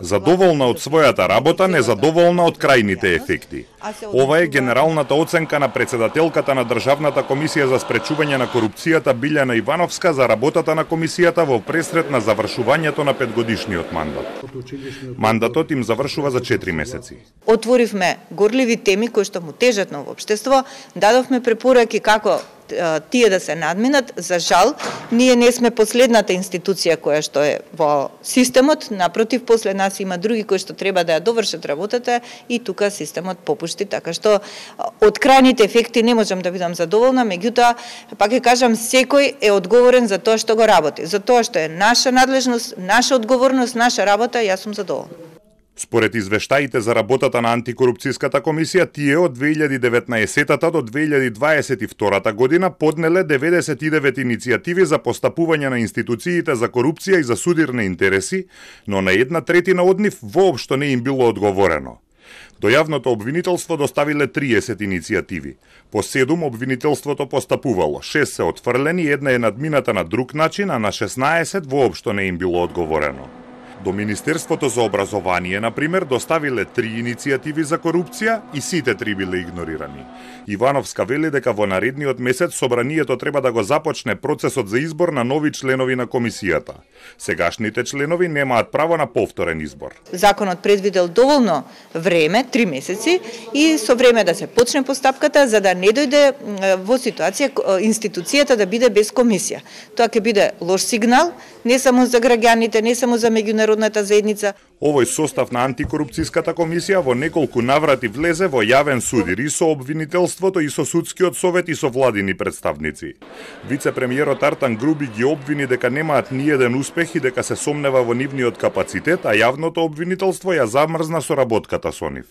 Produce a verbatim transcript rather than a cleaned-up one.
Задоволна од својата работа, незадоволна од крајните ефекти. Ова е генералната оценка на председателката на Државната комисија за спречување на корупцијата Билјана Ивановска за работата на комисијата во пресред на завршувањето на петгодишниот мандат. Мандатот им завршува за четири месеци. Отворивме горливи теми кои што му тежат на општество, дадовме препораки како тие да се надминат. За жал, ние не сме последната институција која што е во системот, напротив, после нас има други кои што треба да ја довршат работата и тука системот попушти, така што од крајните ефекти не можам да бидам задоволна, меѓутоа, пак ќе кажам, секој е одговорен за тоа што го работи, за тоа што е наша надлежност, наша одговорност, наша работа, јас сум задоволна. Според извештаите за работата на антикорупцијската комисија, тие од две илјади и деветнаесетта до две илјади дваесет и втора година поднеле деветдесет и девет иницијативи за постапување на институциите за корупција и за судирни интереси, но на една третина од нив воопшто не им било одговорено. До јавното обвинителство доставиле триесет иницијативи. По седум обвинителството постапувало, шест се отфрлени, една е надмината на друг начин, а на шеснаесет воопшто не им било одговорено. До Министерството за образование, например, доставиле три иницијативи за корупција и сите три биле игнорирани. Ивановска вели дека во наредниот месец собранието треба да го започне процесот за избор на нови членови на комисијата. Сегашните членови немаат право на повторен избор. Законот предвидел доволно време, три месеци, и со време да се почне постапката за да не дојде во ситуација институцијата да биде без комисија. Тоа ќе биде лош сигнал не само за граѓаните, не само за меѓународната заедница. Овој состав на антикорупцијската комисија во неколку наврати влезе во јавен судир и со обвинителството, и со судскиот совет, и со владини представници. Вице-премиерот Артан Груби ги обвини дека немаат ниеден успех и дека се сомнева во нивниот капацитет, а јавното обвинителство ја замрзна соработката со нив.